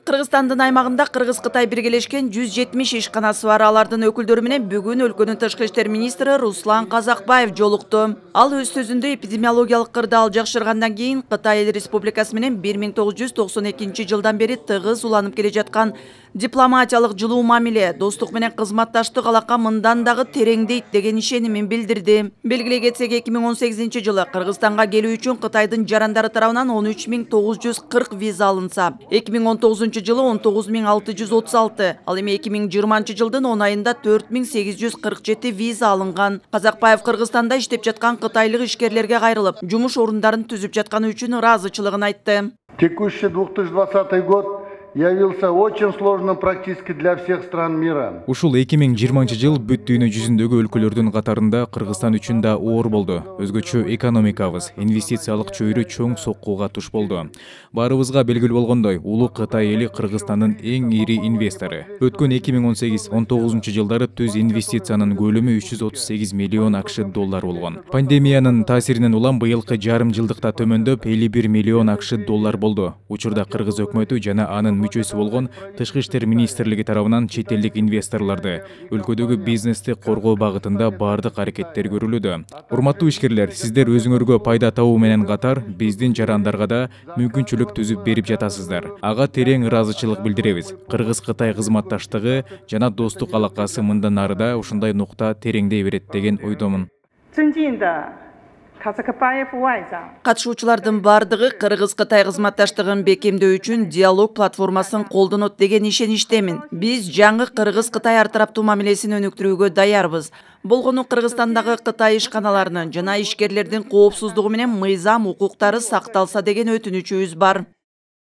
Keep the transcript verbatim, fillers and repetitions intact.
Кыргызстандын аймагында Кыргыз-Кытай биргелешкен жүз жетимиш ишканасы бар. Алардын өкүлдөрү менен бүгүн өлкөнүн тышкы иштер министри Руслан Казакбаев жолукту. Ал өз сөзүндө эпидемиологиялык кырдаал жакшыргандан кийин Кытай Эл Республикасы менен бир миң тогуз жүз токсон экинчи жылдан бери тыгыз уланып келе жаткан дипломатиялык жылуу мамиле, достук менен кызматташтык алака мындан дагы тереңдейт деген ишенимин билдирди. Белгилей кетсек, эки миң он сегизинчи жылы Кыргызстанга келүү үчүн Кытайдын жарандары тарабынан он үч миң тогуз жүз кырк виза алынса, эки миң он тогузунчу жылы он тогуз миң алты жүз отуз алты, ал эми эки миң жыйырманчы жылдын он айында төрт миң сегиз жүз кырк жети виза алынган. Казакбаев Кыргызстанда иштеп жаткан кытайлык ишкерлерге кайрылып, жумуш орундарын түзүп жатканы үчүн ыраазычылыгын айтты. Текущий две тысячи двадцатый год явился очень сложным практически для всех стран мира. Ушул эки миң жыйырманчы жыл бүт дүйнө жүзүндөгү өлкөлөрдүн катарында Кыргызстан үчүн да оор болду. Өзгөчө экономикабыз, инвестициялык чөйрө чоң соккуга туш болду. Баарыбызга белгилүү болгондой, улуу Кытай эли Кыргызстандын эң ири инвестору. Өткөн эки миң он сегиз он тогузунчу жылдары түз инвестициянын көлөмү үч жүз отуз сегиз миллион акш доллар болгон. Пандемиянын таасиринен улам быйылкы жарым жылдыкта төмөндөп элүү бир миллион акш доллар болду. Учурда Кыргыз өкмөтү жана анын мүчөсү болгон Тышкы иштер министрлиги тарабынан чет элдик инвесторлорду, өлкөдөгү бизнести коргоо багытында бардык аракеттер көрүлүүдө. Урматтуу ишкерлер, сиздер өзүңөргө пайда табуу менен катар биздин жарандарга да мүмкүнчүлүк түзүп берип жатасыздар. Ага терең ыраазычылык билдиребиз. Кыргыз-Кытай кызматташтыгы жана достук алакасы мындан ары да ушундай нукта тереңдей берет деген ойдомун. Катышуучулардын бардыгы Кыргыз-Кытай кызматташтыгын бекемдөө үчүн диалог платформасын колдонот деген ишеништемин. Биз жаңы Кыргыз-Кытай ар тараптуу мамилесин өнүктүрүүгө даярбыз. Болгону Кыргызстандагы Кытай ишканаларынын жана ишкерлердин коопсуздугу менен мыйзам укуктары сакталса деген өтүнүчүбүз бар.